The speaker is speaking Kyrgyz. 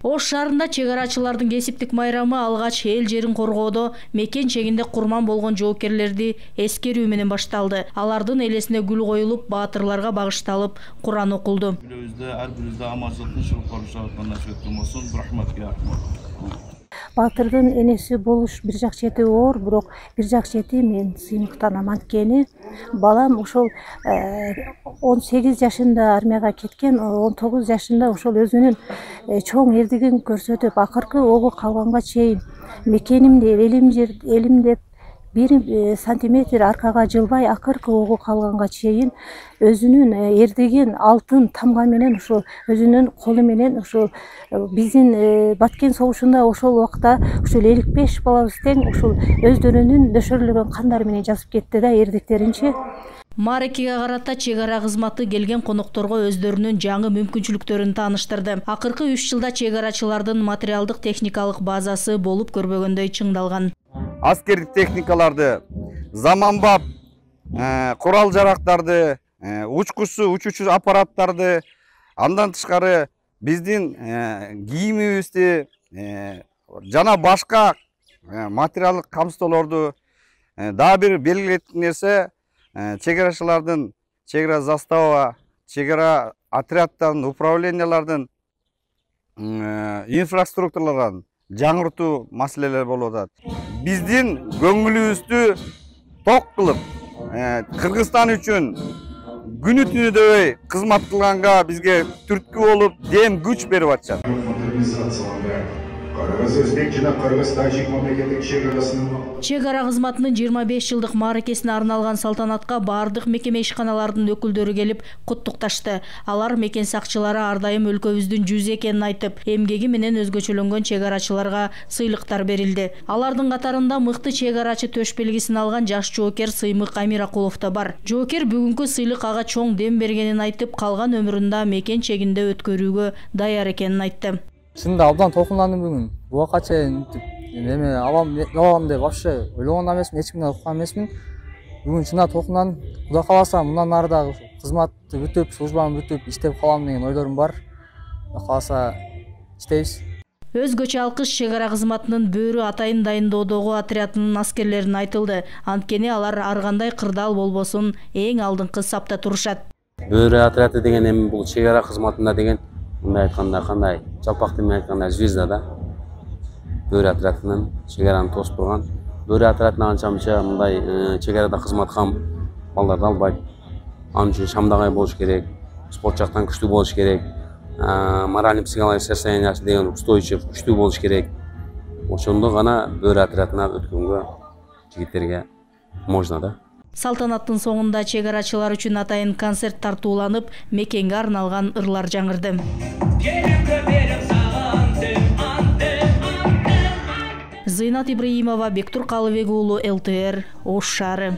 Ош шаарында чек арачылардын кесиптик майрамы алгач эл жерин коргоодо мекен чегинде курман болгон жоокерлерди эскерүү менен башталды. Алардын элесине гүл коюлуп, баатырларга багышталып, Куран окулду. Ар бирибизде аманчылык, тынччылык барышабыз насыйбет болсун. Рахматка. Баатырдын энеси болуш бир жак чети оор, бирок бир жак чети мен сыймыктанам. Анткени балам ошол 18 жашында армияга кеткен, 19 жашында ошол өзүнүн чоң эрдигин көрсөтүп, акыркы огу калганга чейин мекенимди, элим деп 1 сантиметр аркага жылбай, акыркы огу калганга чейин өзүнүн эрдигин алтын тамга менен ошо өзүнүн колу менен ошо биздин Баткен согушунда ошол убакта ушул 55 балабыз тең ошол өздөрүнүн дөшөрлөгөн кандары менен жазып кетти да эрдиктеринчи. Мааракеге карата чек ара кызматы келген конокторго өздөрүнүн жаңы мүмкүнчүлүктөрүн тааныштырды. Акыркы 3 жылда чек арачылардын материалдык техникалык базасы болуп көрбөгөндөй чыңдалган. Аскердик техникаларды, заманбап курал жарактарды, учуучу аппараттарды, андан тышкары биздин кийимибизди жана башка материалдык камсыздоолорду дагы бир белгилейтин нерсе чек арачылардын, чек ара застава, чек ара отряддардын, управлениялардын инфраструктураларын жаңыртуу маселелер болуп атат. Биздин көңүлүбүздү ток кылып, Кыргызстан үчүн күнү түнү дөбөй кызмат кылганга бизге түрткү болуп, дем күч берип атышат. Чек ара кызматынын 25 жылдык мааракесине арналган салтанатка бардык мекеме ишканаларынын өкүлдөрү келип куттукташты. Алар мекен сакчылары ар дайым өлкөбүздүн жүзү экенин айтып, эмгеги менен өзгөчөлөнгөн чек арачыларга сыйлыктар берилди. Алардын катарында мыкты чек арачы төш белгисин алган жаш жоокер Сыймык Амиракулов да бар. Жоокер бүгүнкү сыйлык ага чоң дем бергенин айтып, калган өмүрүндө мекен чегинде өткөрүүгө даяр экенин айтты. Чында абдан толкундум бүгүн. Буга чейин эме алам деп вообще ойлогон эмесмин, эч кимден уккан эмесмин. Бүгүн чында толкундум. Кудай кааласа мындан ары да кызматты бүтүп, службаны бүтүп иштеп калам деген ойлорум бар. Кудай кааласа иштейбиз. Өзгөчө алкыш чек ара кызматынын бөөрү атайын дайындоодогу отрядынын аскерлерине айтылды. Анткени алар ар кандай кырдаал болбосун эң алдыңкы сапта турушат. Бөөрү отряды деген эми бул чек ара кызматында деген мындай айтканда кандай жалпак тил менен айтканда звезда да. Бөөрү отрядынын чек араны тосуп турган. Бөөрү отрядына анча-мынча мындай чек арада кызмат кылган балдарды албайт. Анын үчүн шамдагай болуш керек, спорт жактан күчтүү болуш керек, моральный психологический состояниясы деген устойчив, күчтүү болуш керек. Ошондо гана бөөрү отрядына өткөнгө жигиттерге можно да. Салтанаттын соңунда чек арачылар үчүн атайын концерт тартууланып, мекенге арналган ырлар жаңырды. Зыйнат Ибраимова, Бектур Калыбек уулу, ЛТР, Ош шаары.